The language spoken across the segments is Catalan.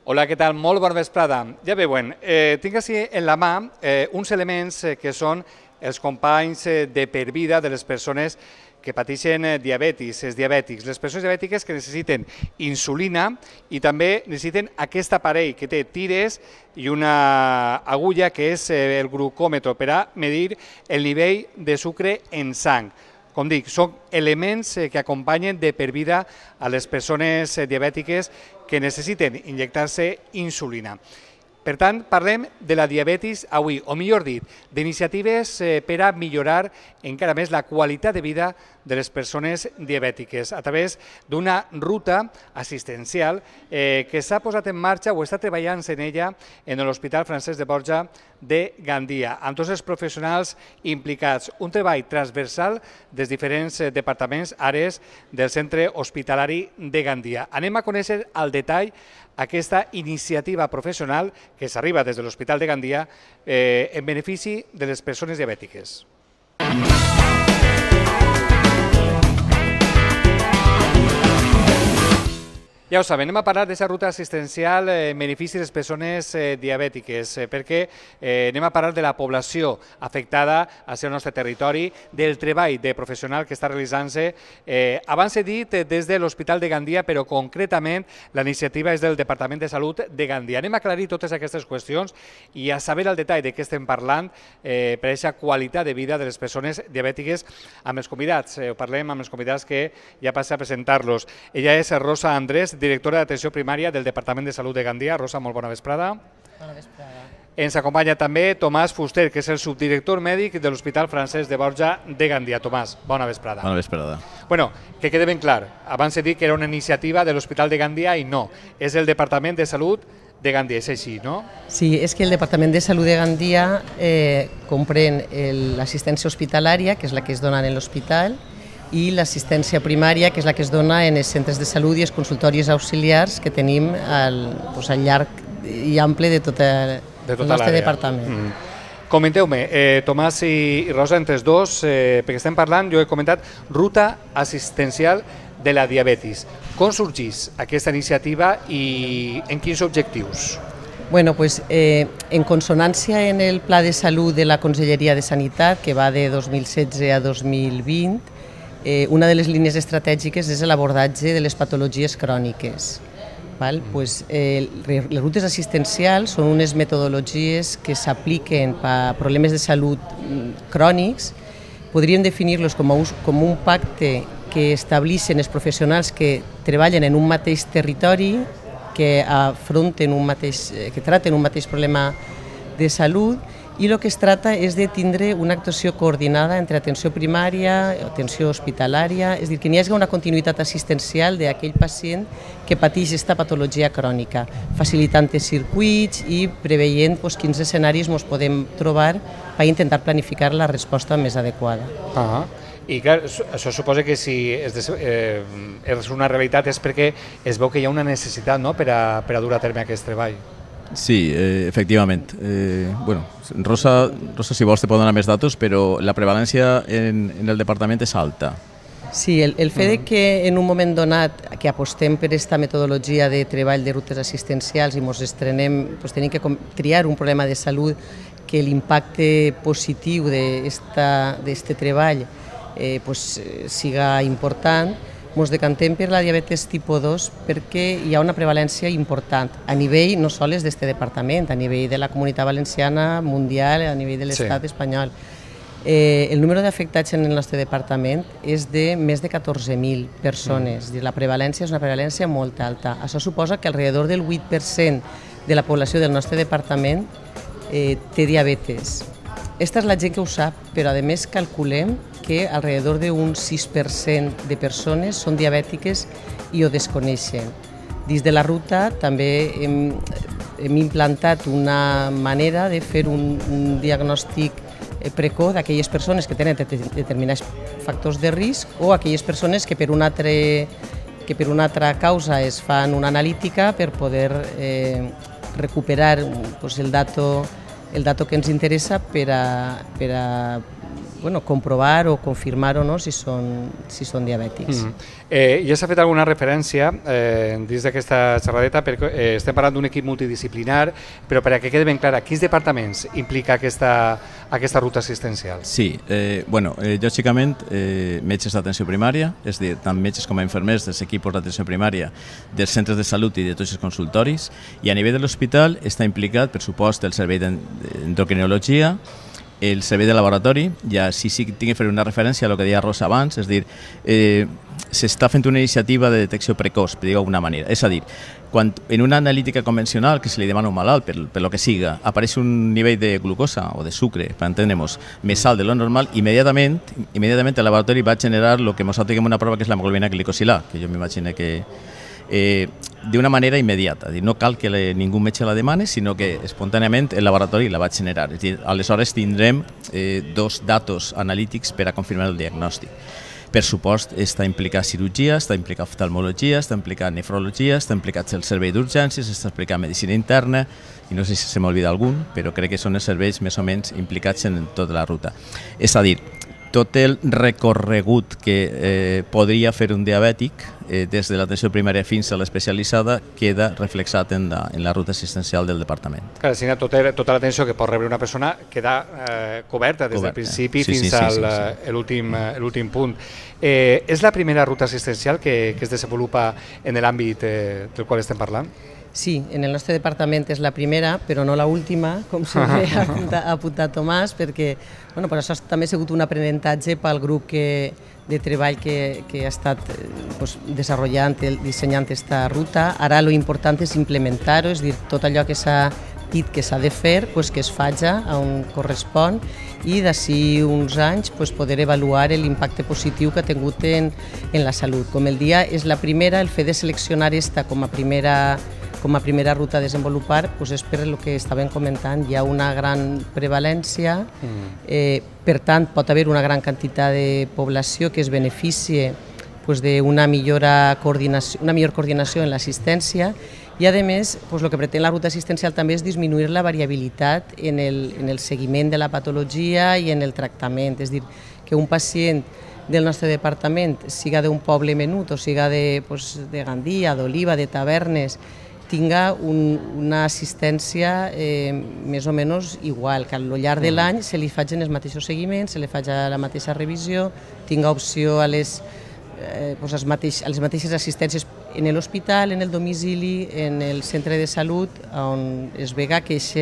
Hola, què tal? Molt bona vesprada. Ja veuen, tinc així en la mà uns elements que són els companys de per vida de les persones que pateixen diabetis, els diabètics. Les persones diabètiques que necessiten insulina i també necessiten aquest aparell que té tires i una agulla que és el glucòmetre per a medir el nivell de sucre en sang. Com dic, són elements que acompanyen de per vida a les persones diabètiques que necessiten injectar-se insulina. Per tant, parlem de la diabetis avui, o millor dit, d'iniciatives per a millorar encara més la qualitat de vida de les persones diabètiques a través d'una ruta assistencial que s'ha posat en marxa o està treballant en ella en l'Hospital Francesc de Borja de Gandia, amb tots els professionals implicats. Un treball transversal dels diferents departaments, àrees del centre hospitalari de Gandia. Anem a conèixer al detall aquesta iniciativa professional que s'arriba des de l'Hospital de Gandia en benefici de les persones diabètiques. Ja ho saben, anem a parlar d'aquesta ruta assistencial en benefici de les persones diabètiques, perquè anem a parlar de la població afectada al seu nostre territori, del treball de professional que està realitzant-se, abans he dit des de l'Hospital de Gandia, però concretament la iniciativa és del Departament de Salut de Gandia. Anem a aclarir totes aquestes qüestions i a saber el detall de què estem parlant per a aquesta qualitat de vida de les persones diabètiques amb els convidats. Ho parlem amb els convidats que ja passa a presentar-los. Ella és Rosa Andrés, directora d'Atenció Primària del Departament de Salut de Gandia. Rosa, molt bona vesprada. Bona vesprada. Ens acompanya també Tomàs Fuster, que és el subdirector mèdic de l'Hospital Francesc de Borja de Gandia. Tomàs, bona vesprada. Bona vesprada. Bueno, que quede ben clar, abans he dit que era una iniciativa de l'Hospital de Gandia i no, és el Departament de Salut de Gandia, és així, no? Sí, és que el Departament de Salut de Gandia comprèn l'assistència hospitalària, que és la que es dona en l'hospital, i l'assistència primària, que és la que es dona en els centres de salut i els consultoris auxiliars que tenim al llarg i ample de tot el nostre departament. Comenteu-me, Tomàs i Rosa, entre els dos, perquè estem parlant, jo he comentat, ruta assistencial de la diabetis. Com sorgeix aquesta iniciativa i en quins objectius? Bueno, pues, en consonància en el Pla de Salut de la Conselleria de Sanitat, que va de 2016 a 2020, una de les línies estratègiques és l'abordatge de les patologies cròniques. Les rutes assistencials són unes metodologies que s'apliquen per problemes de salut crònics. Podríem definir-los com un pacte que estableixen els professionals que treballen en un mateix territori, que traten un mateix problema de salut, i el que es tracta és de tindre una actuació coordinada entre atenció primària, atenció hospitalària, és a dir, que n'hi hagi una continuïtat assistencial d'aquell pacient que pateix aquesta patologia crònica, facilitant els circuits i preveient quins escenaris ens podem trobar per intentar planificar la resposta més adequada. I clar, això suposa que si és una realitat és perquè es veu que hi ha una necessitat per a dur a terme aquest treball. Sí, efectivament. Rosa, si vols, te pot donar més datos, però la prevalència en el departament és alta. Sí, el fet que en un moment donat que apostem per aquesta metodologia de treball de rutes assistencials i ens estrenem, tenim que triar un problema de salut que l'impacte positiu d'aquest treball siga important, ens decantem per la diabetes tipus 2 perquè hi ha una prevalència important a nivell no sols d'aquest departament, a nivell de la Comunitat Valenciana, mundial, a nivell de l'estat espanyol. El número d'afectats en el nostre departament és de més de 14.000 persones. La prevalència és una prevalència molt alta. Això suposa que alrededor del 8% de la població del nostre departament té diabetes. Esta és la gent que ho sap, però a més calculem que alrededor d'un 6% de persones són diabètiques i ho desconeixen. Dins de la ruta també hem implantat una manera de fer un diagnòstic precoç d'aquelles persones que tenen determinats factors de risc o aquelles persones que per una altra causa es fan una analítica per poder recuperar el dato que ens interessa per a comprovar o confirmar o no si són diabètics. Ja s'ha fet alguna referència dins d'aquesta xerradeta, perquè estem parlant d'un equip multidisciplinar, però per a que quedi ben clar, quins departaments implica aquesta ruta assistencial? Sí, lògicament metges d'atenció primària, és a dir, tant metges com a infermers dels equips d'atenció primària dels centres de salut i de tots els consultoris, i a nivell de l'hospital està implicat, per supost, el servei d'endocrinologia, el servei de laboratori. Ja sí que tinc que fer una referència a el que deia Rosa abans, és a dir, s'està fent una iniciativa de detecció precoç, per dir-ho d'alguna manera. És a dir, quan en una analítica convencional que se li demana a un malalt, per lo que siga, apareix un nivell de glucosa o de sucre, per entendre'ns, més alt de lo normal, immediatament el laboratori va generar el que nosaltres diguem una prova que és l'hemoglobina glicosilà, que jo m'imagino que d'una manera immediata, no cal que ningú metge la demani, sinó que espontàniament el laboratori la va generar. És a dir, aleshores tindrem dos datos analítics per a confirmar el diagnòstic. Per supost, està implicat cirurgia, està implicat oftalmologia, està implicat nefrologia, està implicat el servei d'urgències, està implicat medicina interna, i no sé si se m'olvida algun, però crec que són els serveis més o menys implicats en tota la ruta. És a dir, tot el recorregut que podria fer un diabètic des de l'atenció primària fins a l'especialitzada queda reflexat en la ruta assistencial del departament. Clar, tota l'atenció que pot rebre una persona queda coberta des del principi fins a l'últim punt. És la primera ruta assistencial que es desenvolupa en l'àmbit del qual estem parlant? Sí, en el nostre departament és la primera, però no l'última, com sempre ha apuntat Tomàs, perquè per això també ha sigut un aprenentatge pel grup de treball que ha estat dissenyant aquesta ruta. Ara l'important és implementar-ho, és a dir, tot allò que s'ha dit que s'ha de fer, que es faci on correspon, i d'ací uns anys poder avaluar l'impacte positiu que ha tingut en la salut. Com el dia és la primera, el fet de seleccionar aquesta com a primera ruta a desenvolupar és per el que estàvem comentant, hi ha una gran prevalència, per tant pot haver una gran quantitat de població que es beneficie d'una millor coordinació en l'assistència, i a més el que pretén la ruta assistencial també és disminuir la variabilitat en el seguiment de la patologia i en el tractament, és a dir, que un pacient del nostre departament, siga d'un poble menut o siga de Gandia, d'Oliva, de Tavernes, tinga una assistència més o menys igual, que al llarg de l'any se li facin els mateixos seguiments, se li faci la mateixa revisió, tinga opció a les mateixes assistències en l'hospital, en el domicili, en el centre de salut, on es vega que aquest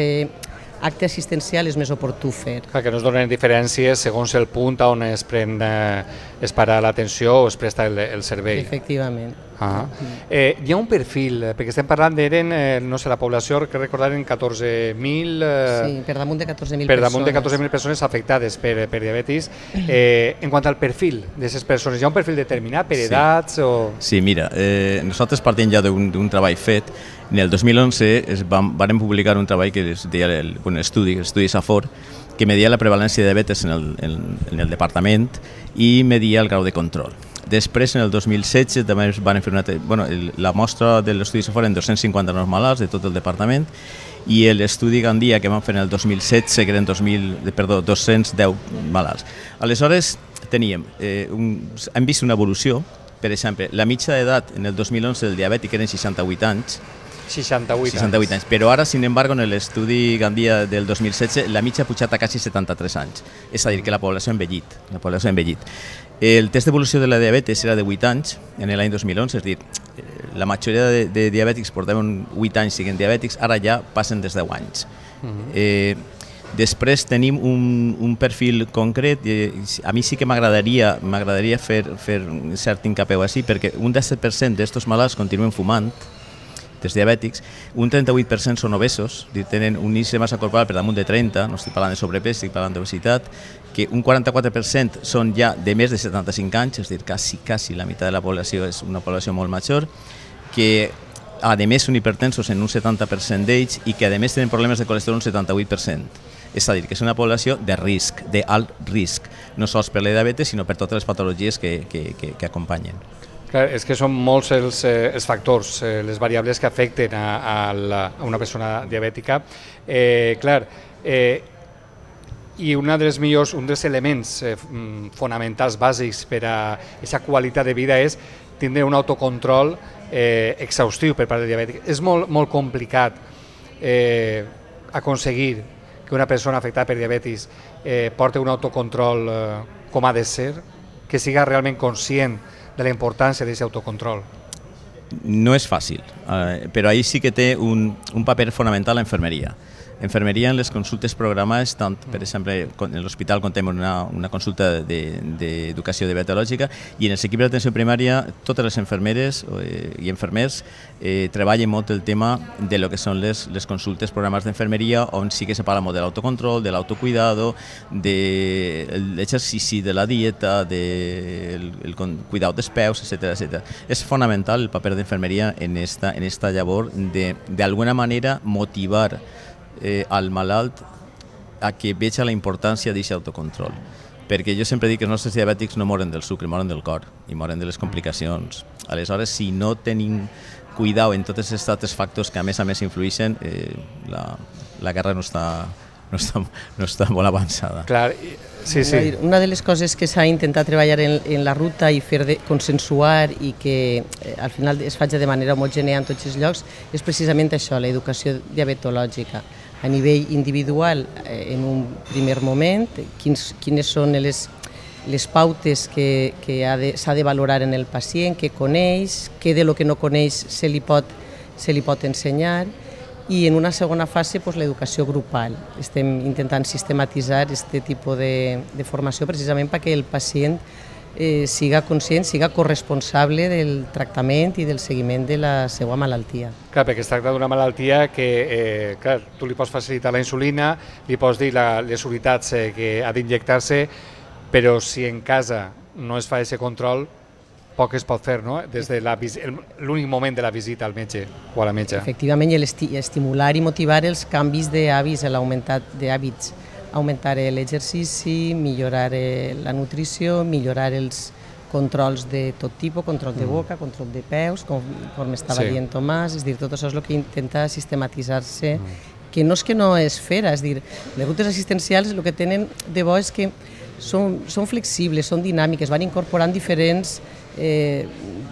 acte assistencial és més oportú fer. Que no es donen diferències segons el punt on es para l'atenció o es presta el servei. Efectivament. Hi ha un perfil, perquè estem parlant d'eren, no sé, la població, que recordaren 14.000... Sí, per damunt de 14.000 persones. Per damunt de 14.000 persones afectades per diabetis. En quant al perfil d'aquestes persones, hi ha un perfil determinat per edats o...? Sí, mira, nosaltres partim ja d'un treball fet. En el 2011 vam publicar un treball que es deia l'estudi Safor, que media la prevalència de diabetes en el departament i media el grau de control. Després, en el 2016, també van fer la mostra de l'estudi Safor en 259 malalts de tot el departament, i l'estudi Gandia que vam fer en el 2016, que eren 210 malalts. Aleshores, hem vist una evolució. Per exemple, la mitja d'edat en el 2011 del diabètic eren 68 anys, 68 anys. Però ara, sin embargo, en l'estudi Gandia del 2016, la mitja ha pujat a quasi 73 anys. És a dir, que la població ha envellit. El test d'evolució de la diabetes era de 8 anys en l'any 2011, és a dir, la majoria de diabètics portaven 8 anys siguent diabètics, ara ja passen des de 10 anys. Després tenim un perfil concret, a mi sí que m'agradaria fer un cert hincapié així, perquè un 17% d'aquests malalts continuen fumant, dels diabètics, un 38% són obesos, tenen un índex de massa corporal per damunt de 30, no estic parlant de sobrepès, estic parlant d'obesitat, que un 44% són ja de més de 75 anys, és a dir, quasi la meitat de la població és una població molt major, que a més són hipertensos en un 70% d'ells i que a més tenen problemes de colesterol un 78%. És a dir, que és una població de risc, d'alt risc, no sols per la diabetes, sinó per totes les patologies que acompanyen. Clar, és que són molts els factors, les variables que afecten a una persona diabètica. I un dels elements fonamentals, bàsics per a aquesta qualitat de vida és tindre un autocontrol exhaustiu per part del diabètic. És molt complicat aconseguir que una persona afectada per diabetis porti un autocontrol com ha de ser, que siga realment conscient de la importància d'aquest autocontrol. No és fàcil, però ahí sí que té un paper fonamental la infermeria. Enfermeria en les consultes programades, tant, per exemple, en l'hospital contem una consulta d'educació diabetològica i en els equips d'atenció primària totes les infermeres i infermers treballen molt el tema de lo que són les consultes programades d'enfermeria, on sí que se parla molt de l'autocontrol, de l'autocuidado, de l'exercici, de la dieta, del cuidado dels peus, etc. És fonamental el paper d'infermeria en esta llavor d'alguna manera motivar al malalt a que veja la importància d'aquest autocontrol. Perquè jo sempre dic que els nostres diabètics no moren del sucre, moren del cor i moren de les complicacions. Aleshores, si no tenim cuidado en tots aquests altres factors que a més influeixen, la guerra no està molt avançada. Clar, sí. Una de les coses que s'ha intentat treballar en la ruta i fer consensuar i que al final es faci de manera homogènia en tots els llocs és precisament això, l'educació diabetològica. A nivell individual, en un primer moment, quines són les pautes que s'ha de valorar en el pacient, què coneix, què de lo que no coneix se li pot ensenyar, i en una segona fase l'educació grupal. Estem intentant sistematitzar aquest tipus de formació precisament perquè el pacient siga conscient, siga corresponsable del tractament i del seguiment de la seva malaltia. Clar, perquè es tracta d'una malaltia que tu li pots facilitar la insulina, li pots dir les unitats que ha d'injectar-se, però si en casa no es fa aquest control, poc es pot fer, no? Des de l'únic moment de la visita al metge o a la metge. Efectivament, estimular i motivar els canvis d'hàbits, d'hàbits, augmentar l'exercici, millorar la nutrició, millorar els controls de tot tipus, control de boca, control de peus, com estava dient Tomàs, és dir, tot això és el que intenta sistematitzar-se, que no és fer, és dir, les rutes assistencials el que tenen de bo és que són flexibles, són dinàmiques, van incorporant diferents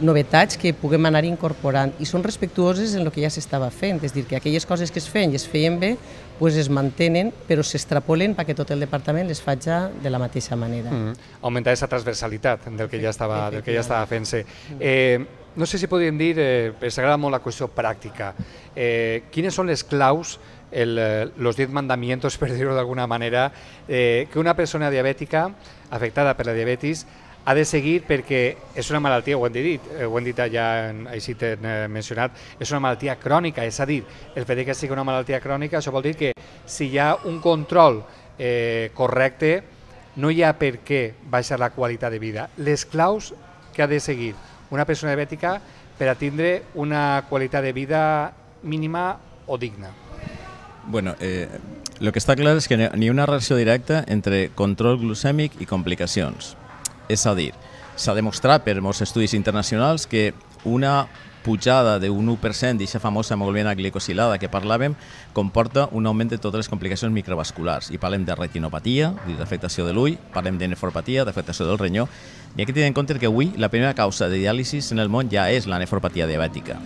novetats que puguem anar incorporant i són respectuoses en el que ja s'estava fent, és dir, que aquelles coses que es feien i es feien bé es mantenen però s'extrapolen perquè tot el departament les faci de la mateixa manera. Augmentar aquesta transversalitat del que ja estava fent-se. No sé si podríem dir, ens agrada molt la qüestió pràctica, quines són les claus, los 10 mandamientos, per dir-ho d'alguna manera, que una persona diabètica afectada per la diabetis ha de seguir perquè és una malaltia, ho hem dit ja, així t'he mencionat, és una malaltia crònica, és a dir, el fet que sigui una malaltia crònica, això vol dir que si hi ha un control correcte, no hi ha per què baixar la qualitat de vida. Les claus que ha de seguir una persona diabètica per a tindre una qualitat de vida mínima o digna. Bueno, el que està clar és que no hi ha una relació directa entre control glucèmic i complicacions. És a dir, s'ha demostrat per molts estudis internacionals que una pujada d'un 1% d'aquesta famosa hemoglobina glicosilada que parlàvem comporta un augment de totes les complicacions microvasculars. I parlem de retinopatia, d'afectació de l'ull, parlem de nefropatia, d'afectació del renyó. I hay que tenir en compte que avui la primera causa de diàlisi en el món ja és la nefropatia diabètica.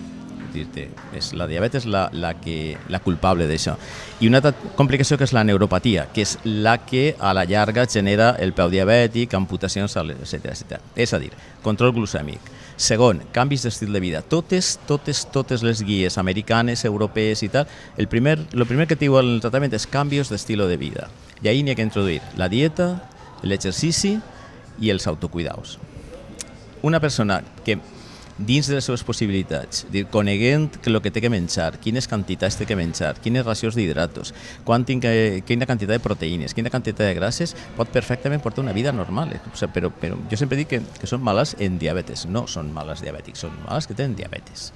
La diabetes és la culpable d'això. I una altra complicació que és la neuropatia, que és la que a la llarga genera el peu diabètic, amputacions, etc. És a dir, control glucèmic. Segon, canvis d'estil de vida. Totes les guies americanes, europees i tal, el primer que et diu el tractament és canvis d'estil de vida. I ahí n'hi ha que introduir la dieta, l'exercici i els autocuidaus. Una persona que dins de les seves possibilitats, coneguent el que té que menjar, quines quantitats té que menjar, quines racions d'hidratos, quina quantitat de proteïnes, quina quantitat de grasses, pot perfectament portar una vida normal. Però jo sempre dic que són males en diabetes, no són males diabètics, són males que tenen diabetes.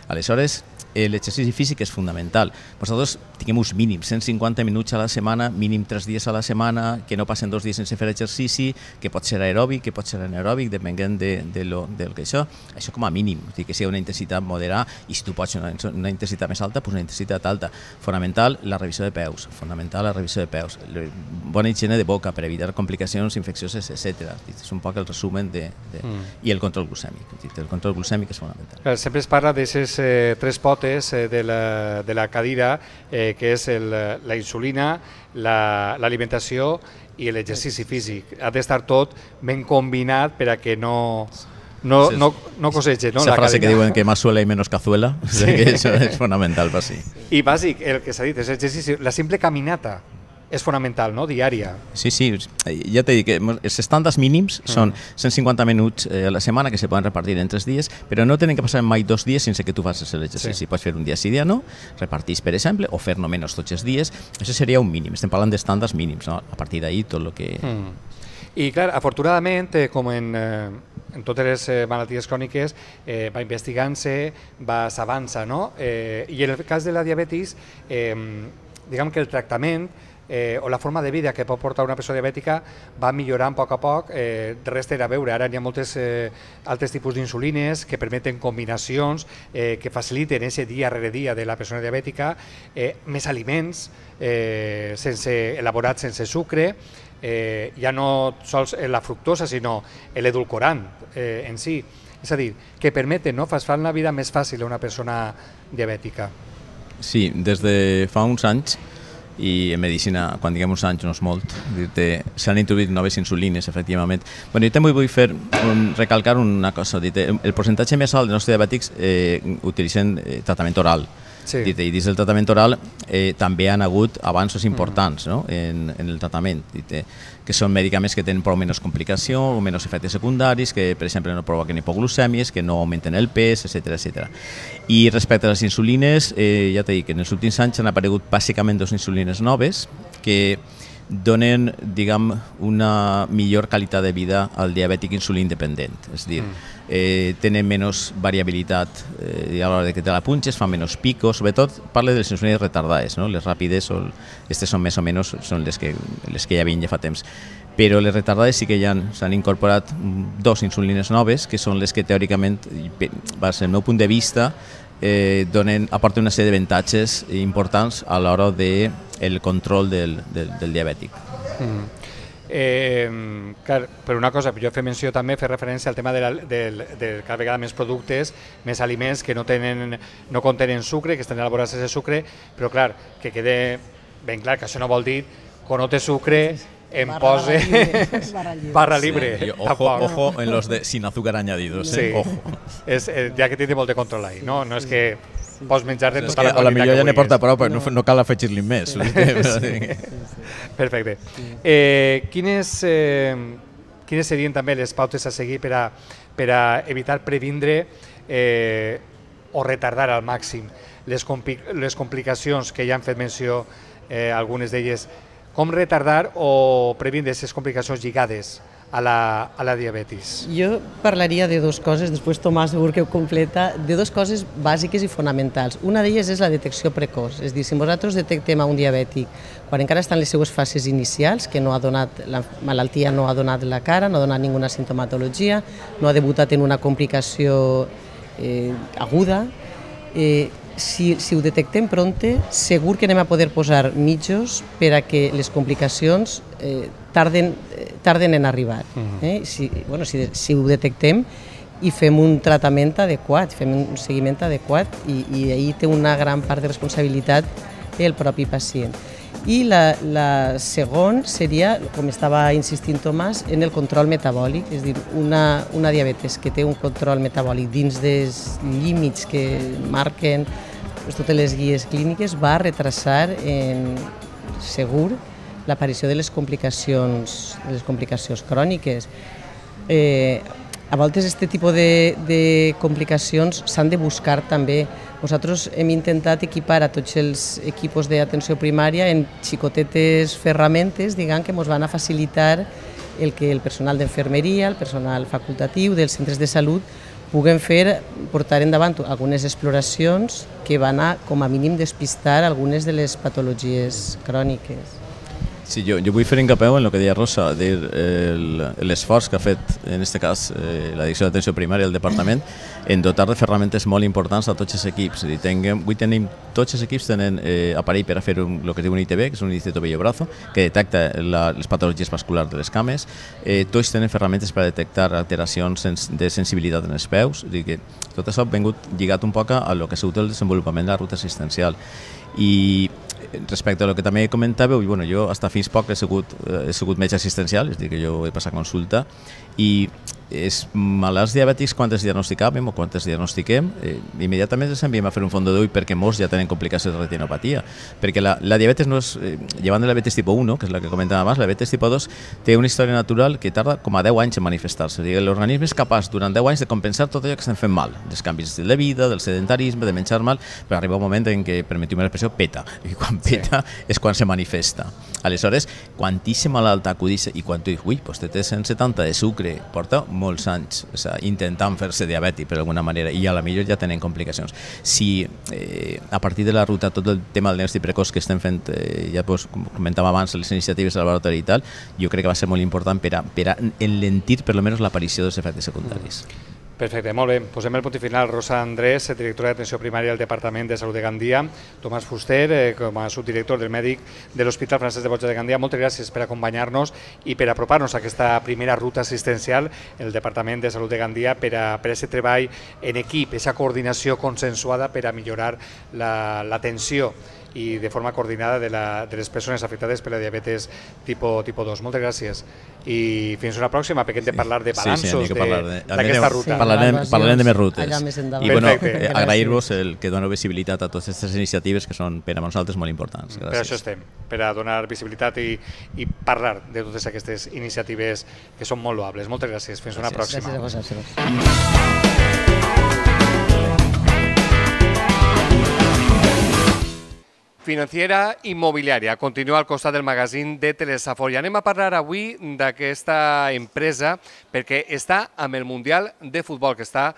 Aleshores, l'exercici físic és fonamental. Nosaltres tinguem uns mínims, 150 minuts a la setmana, mínim 3 dies a la setmana, que no passen 2 dies sense fer exercici, que pot ser aeròbic, que pot ser anaeròbic, depenent del que això com a mínim, que sigui una intensitat moderada, i si tu pots una intensitat més alta, doncs una intensitat alta. Fonamental, la revisió de peus, bona higiene de boca per evitar complicacions infeccioses, etc. És un poc el resumen i el control glucèmic. El control glucèmic és fonamental. Sempre es parla d'aquestes 3 potes de la cadira, que és la insulina, l'alimentació i l'exercici físic. Ha d'estar tot ben combinat per a que no cosege, no? Esa frase que diuen que más suela y menos cazuela, això és fonamental per si. I bàsic, el que s'ha dit, és exercici, la simple caminata és fonamental, no? Diària. Sí, ja t'he dit que els estàndards mínims són 150 minuts a la setmana que se poden repartir en 3 dies, però no tenen que passar mai 2 dies sense que tu facis l'exercici. Pots fer un dia sí, dia no, repartís, per exemple, o fer només tots els dies. Això seria un mínim, estem parlant d'estàndards mínims, no? A partir d'ahí tot el que... I clar, afortunadament, com en totes les malalties cròniques, va investigant-se, s'avança, no? I en el cas de la diabetis, diguem que el tractament o la forma de vida que pot portar una persona diabètica va millorant a poc. Res té a veure, ara hi ha molts altres tipus d'insulines que permeten combinacions que faciliten aquest dia rere dia de la persona diabètica, més aliments elaborats sense sucre, ja no sols la fructosa sinó l'edulcorant en si, és a dir, que permeten, fan la vida més fàcil a una persona diabètica. Sí, des de fa uns anys, i en medicina, quan diguem uns anys, no és molt, s'han introduït noves insulines, efectivament. Jo també vull recalcar una cosa, el percentatge més alt dels nostres diabètics utilitzen tractament oral. I dins del tractament oral també han hagut avanços importants en el tractament, que són medicaments que tenen prou menys complicació o menys efectes secundaris, que per exemple no provoquen hipoglucèmies, que no augmenten el pes, etc. I respecte a les insulines, ja t'he dit que en els últims anys han aparegut bàsicament 2 insulines noves que donen, diguem, una millor qualitat de vida al diabètic insulín dependent, és a dir, tenen menys variabilitat a l'hora que te la punxes, fan menys picos, sobretot parla de les insulines retardades, les ràpides, aquestes són més o menys les que ja havien ja fa temps, però les retardades sí que ja s'han incorporat 2 insulines noves, que són les que teòricament, des del meu punt de vista, aporten una sèrie d'avantatges importants a l'hora del control del diabètic. Per una cosa, jo fer menció també, fer referència al tema de cada vegada més productes, més aliments que no contenen sucre, que estan elaborats sense sucre, però clar, que quede ben clar que això no vol dir que no té sucre em pose barra libre. Ojo en los de sin azúcar añadidos. Ojo. Ja que tindre molt de control ahí, no és que pots menjar de tota la qualitat que vulguis. A la millor ja n'he portat prou, però no cal afegir-li més. Perfecte. Quines serien també les pautes a seguir per a evitar previndre o retardar al màxim les complicacions que ja han fet menció algunes d'elles? Com retardar o previndre aquestes complicacions lligades a la diabetis? Jo parlaria de 2 coses, després Tomàs segur que ho completa, de 2 coses bàsiques i fonamentals. Una d'elles és la detecció precoç, és a dir, si nosaltres detectem a un diabètic quan encara està en les seues fases inicials, que la malaltia no ha donat la cara, no ha donat ninguna sintomatologia, no ha debutat en una complicació aguda, si ho detectem prompte, segur que anem a poder posar mitjos per a que les complicacions tarden en arribar. Si ho detectem i fem un tractament adequat, fem un seguiment adequat, i ahir té una gran part de responsabilitat el propi pacient. I la segona seria, com estava insistint Tomàs, en el control metabòlic, és a dir, una diabetes que té un control metabòlic dins dels límits que marquen totes les guies clíniques va retrasar segur l'aparició de les complicacions cròniques. A voltes aquest tipus de complicacions s'han de buscar també. Nosaltres hem intentat equipar a tots els equipos d'atenció primària en xicotetes ferramentes, diguem, que ens van a facilitar el que el personal d'infermeria, el personal facultatiu dels centres de salut puguem portar endavant algunes exploracions que van a, com a mínim, despistar algunes de les patologies cròniques. Sí, jo vull fer encapeu en el que deia Rosa, l'esforç que ha fet, en aquest cas, la Direcció d'Atenció Primària del Departament, en dotar de ferramentes molt importants a tots els equips. Tots els equips tenen aparell per a fer el que es diu un ITB, que és un índice tobillo-brazo, que detecta les patologies vasculars de les cames. Tots tenen ferramentes per a detectar alteracions de sensibilitat en els peus. Tot això ha vingut lligat un poc a lo que ha sigut el desenvolupament de la ruta assistencial. I respecte a lo que també comentàveu, jo fins fa poc he sigut metge assistencial, és a dir, que jo he passat consulta, i els malalts diabètics, quan els diagnosticàvem o quan els diagnostiquem, immediatament els enviem a fer un fons d'ull perquè molts ja tenen complicacions de retinopatia, perquè la diabetes no és, llevant de la diabetes tipus 1, que és la que comentàvem abans, la diabetes tipus 2 té una història natural que tarda com a 10 anys en manifestar-se. L'organisme és capaç durant 10 anys de compensar tot allò que estem fent mal, dels canvis de la vida, del sedentarisme, de menjar mal, però arriba un moment en què, permetiu-me l'expressió, peta, i quan peta és quan se manifesta. Aleshores, quan aquest malalt acudeix i quan tu dius, ui, doncs té 170 de sucre, porta molts anys intentant fer-se diabètic per alguna manera i a la millor ja tenen complicacions. Si a partir de la ruta tot el tema del diagnòstic precoç que estem fent, ja com comentàvem abans, les iniciatives de laboratori i tal, jo crec que va ser molt important per a enlentir per almenys l'aparició dels efectes secundaris. Perfecte, molt bé. Posem el punt final. Rosa Andrés, directora d'Atenció Primària del Departament de Salut de Gandia, Tomàs Fuster, com a subdirector del mèdic de l'Hospital Francesc de Borja de Gandia, moltes gràcies per acompanyar-nos i per apropar-nos a aquesta primera ruta assistencial el Departament de Salut de Gandia per a aquest treball en equip, aquesta coordinació consensuada per a millorar l'atenció i de forma coordinada de les persones afectades per la diabetes tipus 2. Moltes gràcies i fins una pròxima, perquè hem de parlar de balanços d'aquesta ruta. Parlarem de més rutes. I agrair-vos el que doneu visibilitat a totes aquestes iniciatives que són per a nosaltres molt importants. Per això estem, per a donar visibilitat i parlar de totes aquestes iniciatives que són molt loables. Moltes gràcies, fins una pròxima. Gràcies a vosaltres. Financiera Immobiliària continua al costat del magazín de Telesafor i anem a parlar avui d'aquesta empresa perquè està amb el Mundial de Futbol que està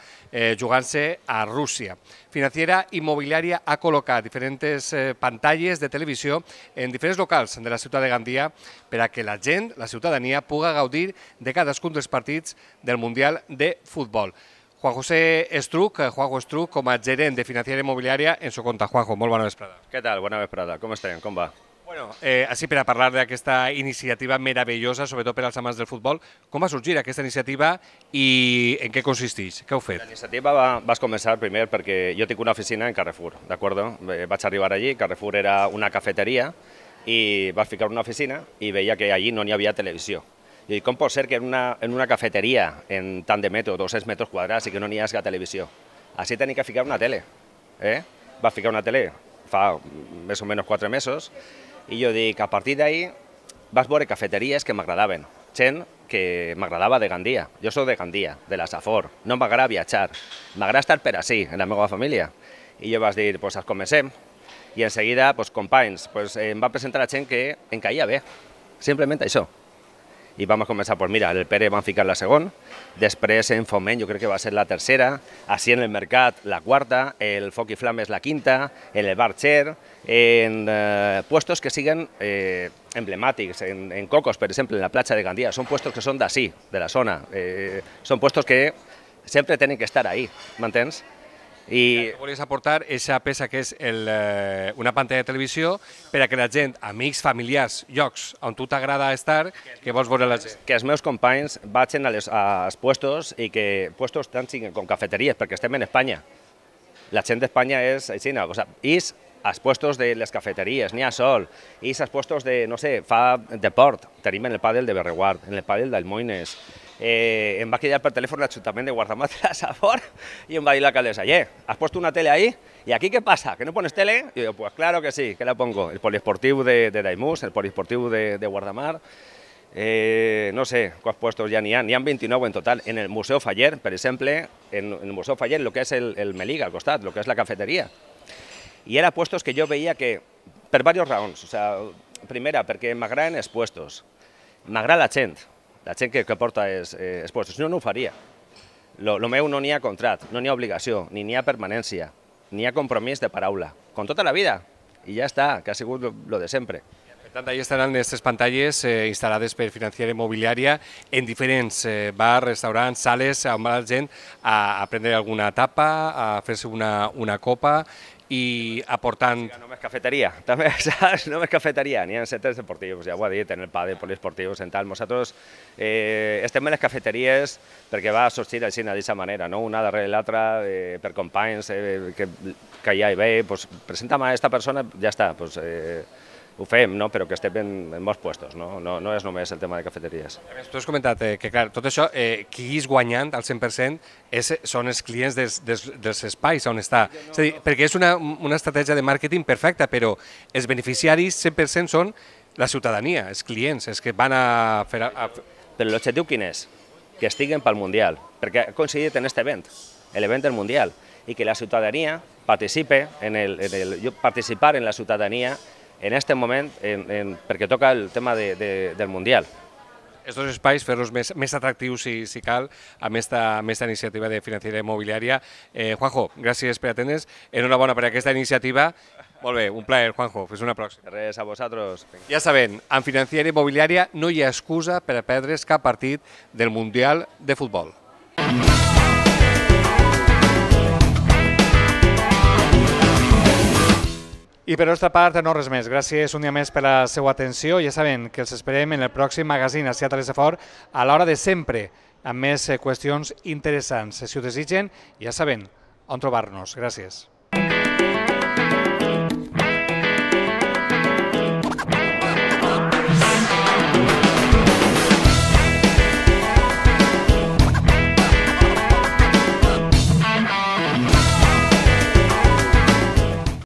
jugant-se a Rússia. Financiera Immobiliària ha col·locat diferents pantalles de televisió en diferents locals de la ciutat de Gandia per a que la gent, la ciutadania, pugui gaudir de cadascun dels partits del Mundial de Futbol. Juan José Estruc, Juanjo Estruc, com a gerent de Financiera Immobiliària, en su compte. Juanjo, molt bona vesprada. Què tal? Bona vesprada. Com estem? Com va? Bueno, així per a parlar d'aquesta iniciativa meravellosa, sobretot per als amants del futbol, com va sorgir aquesta iniciativa i en què consisteix? Què heu fet? La iniciativa va començar primer perquè jo tinc una oficina en Carrefour, d'acord? Vaig arribar allí, Carrefour era una cafeteria i vaig ficar una oficina i veia que allí no n'hi havia televisió. I com pot ser que en una cafeteria en tant de metro, 200 metres quadrats, i que no n'hi hagi televisió? Així tenia que ficar una tele. Va ficar una tele fa més o menys 4 mesos i jo dic, a partir d'ahir vaig veure cafeteries que m'agradaven, gent que m'agradava de Gandia. Jo soc de Gandia, de la Safor, no m'agrada viatjar, m'agrada estar per ací, en la meva família. I jo vaig dir, doncs comencem. I en seguida, companys, em va presentar a gent que em caia bé, simplement això. I vam començar, mira, el Pere van ficar la segona, després en Foment jo crec que va ser la tercera, així en el Mercat la quarta, el Foc i Flames la quinta, en el Bar Cher, en puestos que siguen emblemàtics, en Cocos, per exemple, en la platja de Gandia, són puestos que són d'ací, de la zona, són puestos que sempre tenen que estar ahí, m'entens? I volies aportar aquesta peça que és una pantalla de televisió per a que la gent, amics, familiars, llocs on tu t'agrada estar, que vols veure la gent. Que els meus companys vagin als puestos i que puestos tant siguin com cafeteries, perquè estem en Espanya. La gent d'Espanya és així, és als puestos de les cafeteries, n'hi ha sol, és als puestos de, no sé, fa deport, tenim en el pàdel de Berreguard, en el pàdel d'Almoines. Em va cridar per telèfon l'Ajuntament de Guardamar de la Safor y em va dir l'alcaldessa, ¿has puesto una tele ahí? ¿Y aquí qué pasa? ¿Que no pones tele? Y yo, pues claro que sí, que la pongo. El poliesportiu de Daimús, el poliesportiu de Guardamar, no sé quants puestos ja n'hi ha 29 en total. En el Museu Faller, per exemple, en el Museu Faller, el que és el Meliga al costat, el que és la cafeteria. I eren puestos que jo veia que, per diverses raons, primera, perquè m'agraden els puestos, m'agrada la gent que porta els puestos, si no, no ho faria. Lo meu no n'hi ha contrat, no n'hi ha obligació, ni n'hi ha permanència, n'hi ha compromís de paraula, com tota la vida, i ja està, que ha sigut lo de sempre. Per tant, ahí estaran aquestes pantalles instal·lades per Financiera Immobiliària en diferents bars, restaurants, sales, on va la gent a prendre alguna tapa, a fer-se una copa i aportant... Només cafeteria, també, saps? Només cafeteria, n'hi ha centres deportius, ja ho ha dit, en el pàdel, poliesportius, en tal. Nosaltres estem en les cafeteries perquè va sorgir així d'aquesta manera, no? Una darrere l'altra, per companys que hi ha i bé, pues, presenta'm a aquesta persona, ja està, pues, ho fem, no? Però que estem en molts puestos, no? No és només el tema de cafeteries. A més, tu has comentat que, clar, tot això, qui és guanyant al 100% són els clients dels espais on està. És a dir, perquè és una estratègia de màrqueting perfecta, però els beneficiaris 100% són la ciutadania, els clients, els que van a fer... Però l'objectiu quin és? Que estiguen pel Mundial, perquè ha coincidit en aquest event, l'event del Mundial, i que la ciutadania participe participar en la ciutadania en aquest moment, perquè toca el tema del Mundial. Els dos espais, fer-los més atractius si cal, amb aquesta iniciativa de Financiera Immobiliària. Juanjo, gràcies per atendre's. Enhorabona per aquesta iniciativa. Molt bé, un plaer, Juanjo. Fins una pròxima. Res, a vosaltres. Ja saben, amb Financiera Immobiliària no hi ha excusa per a perdre's cap partit del Mundial de Futbol. I per la nostra part, no res més. Gràcies un dia més per la seva atenció. Ja saben que els esperem en el pròxim magazín Ací a Terres de Fort a l'hora de sempre, amb més qüestions interessants. Si ho desitgen, ja saben on trobar-nos. Gràcies.